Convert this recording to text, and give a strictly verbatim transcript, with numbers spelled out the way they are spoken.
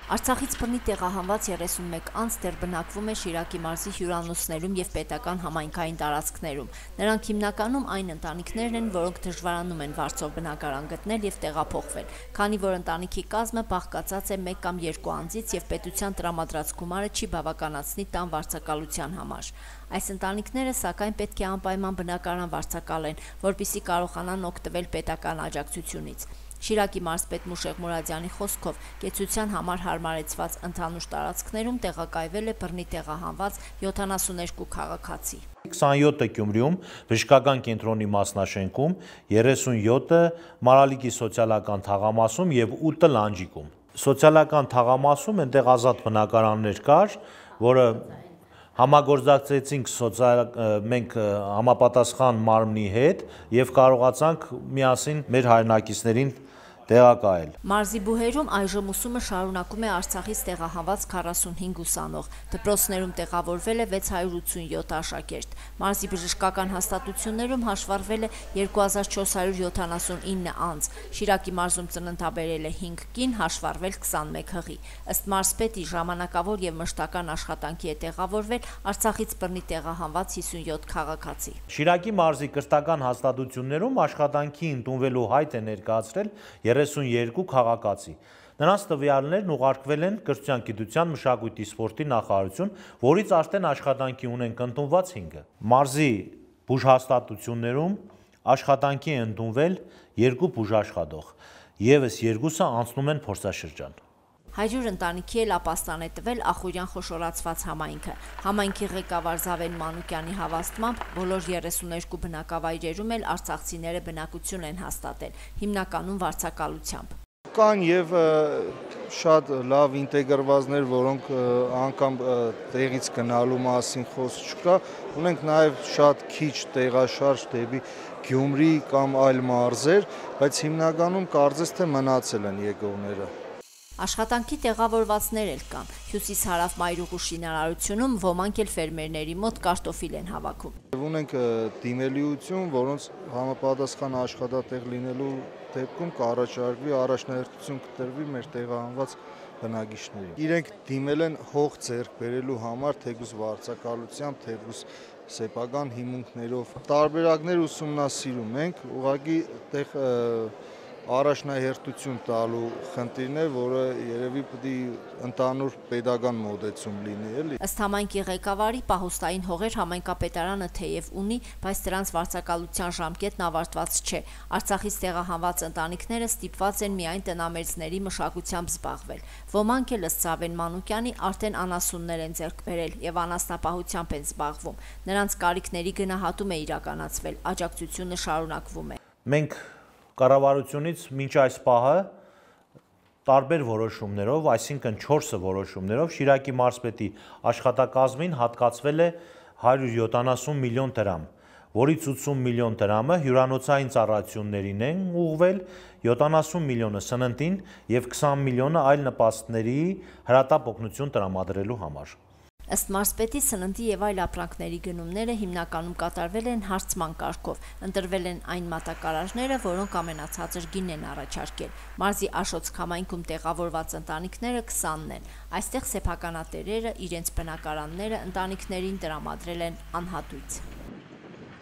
Արցախից բռնի տեղահանված երեսունմեկ անձ դեռ բնակվում է Շիրակի մարզի հյուրանոցներում և պետական համայնքային տարածքներում։ Նրանք հիմնականում այն ընտանիքներն են, որոնք դժվարանում են վարձով բնակարան գտնել և տեղափոխվել, քանի որ ընտանիքի կազմը բաղկացած է մեկ կամ երկու անձից և պետության տրամադրած գումարը չի բավականացնի տան վարձակալության համար։ Այս ընտանիքները սակայն պետք է անպայման բնակարան վարձակալեն, որպեսզի կարողանան օգտվել պետական աջակցությունից։ Շիրակի մարզպետ Մուշեղ Մուրադյանի խոսքով կեցության համար հարմարեցված ընդհանուր տարածքներում տեղակայվել է բռնի տեղահանված յոթանասուներկու քաղաքացի։ քսանյոթը Գյումրիում բժշկական կենտրոնի մասնաշենքում, երեսունյոթը Մարալիկի սոցիալական թաղամասում և ութը Լանջիկում։ Սոցիալական թաղամասում այնտեղ ազատ բնակարաններ կար, որը համագործակցեցինք մենք համապատասխան մարմնի հետ և կարողացանք միասին մեր հայրենակիցներին տեղակայել։ Մարզի բուհերում այժմ ուսումը շարունակում է Արցախից տեղահանված քառասունհինգ ուսանող, դպրոցներում տեղավորվել է վեց հարյուր ութսունյոթ աշակերտ։ Մարզի բժշկական հաստատություններում հաշվառվել է երկու հազար չորս հարյուր յոթանասունինը անձ, Շիրակի մարզում ծննդաբերել է հինգ կին, հաշվառվել քսանմեկ հղի։ Ըստ մարզպետի, ժամանակավոր և մշտական աշխատանքի է տեղավորվել Արցախից բռնի տեղահանված հիսունյոթ քաղաքացի։ Շիրակի մարզի կրթական հաստատություններում աշխատանքի ընդունվելու հայտ է ներկայացրել երեսունյերկու քաղաքացի։ Նրանց տվյալներն ուղարկվել են Կրթության, գիտության, մշակույթի, սպորտի նախարարություն, որից արդեն աշխատանքի ունենք ընդունված հինգը։ Մարզի բուժհաստատություններում աշխատանքի է ընդունվել երկու բուժաշխատող, ևս երկուսը անցնում են փորձաշրջան։ Հարյուր ընտանիքի էլ ապաստան է տվել Ախուրյան խոշորացված համայնքը։ Համայնքի ղեկավար Զավեն Մանուկյանի հավաստմամբ բոլոր երեսուներկու բնակավայրերում էլ արցախցիները բնակություն են հաստատել, հիմնականում վարձակալությամբ։ Կան և շատ լավ ինտեգրվածներ, որոնք անգամ տեղից գնալու մասին խոսք չկա, ունենք նաև շատ քիչ տեղաշարժ դեպի Գյումրի կամ այլ մարզեր, բայց հիմնականում կարծես թե մնացել են եկողները։ Աշխատանքի տեղավորվածներ էլ կան։ Հյուսիս-հարավ Մայրուղու շինարարությունում ոմանք էլ ֆերմերների մոտ կարտոֆիլ են հավաքում։ Ունենք դիմելիություն, որոնց համապատասխան աշխատատեղ լինելու դեպքում կառաջարկվի առաջնահերթություն կտրվի մեր տեղահանված բնակիչներին։ Իրենք դիմել են հող ձեռք բերելու համար, թեկուզ վարձակալությամբ, թեկուզ սեփական հիմունքներով։ Տարբերակներ ուսումնասիրում ենք, ուղղակի տեղ առաջնահերթություն տալու խնդիրն է, որը երևի պետք է ընդհանուր պետական մոտեցում լինի, էլի։ Ըստ համայնքի ղեկավարի, պահոստային հողեր համայնքապետարանը թեև ունի, բայց դրանց վարձակալության ժամկետն ավարտված չէ։ Արցախից տեղահանված ընտանիքները ստիպված են միայն տնամերձների մշակությամբ զբաղվել։ Ոմանք էլ ըստ Զավեն Մանուկյանի արդեն անասուններ են ձեռք բերել և անասնապահությամբ են զբաղվում։ Նրանց կարիքների գնահատում է իրականացվել, աջակցությունը շարունակվում է։ Մենք կառավարությունից մինչ այս պահը տարբեր որոշումներով, այսինքն չորս որոշումներով Շիրակի մարզպետի աշխատակազմին հատկացվել է հարյուր յոթանասուն միլիոն դրամ, որից ութսուն միլիոն դրամը հյուրանոցային ծառայություններին են ուղղվել, յոթանասուն միլիոնը սննդին և քսան միլիոնը այլ նպաստների հրատապ օգնություն տրամադրելու համար։ Ըստ մարզպետի, սննդի և այլ ապրանքների գնումները հիմնականում կատարվել են հարցման կարգով, ընտրվել են այն մատակարարները, որոնք ամենացածր գին են առաջարկել։ Մարզի Աշոց համայնքում տեղավորված ընտանիքները քսանն են։ Այստեղ սեփականատերերը իրենց բնակարանները ընտանիքներին տրամադրել են անհատույց։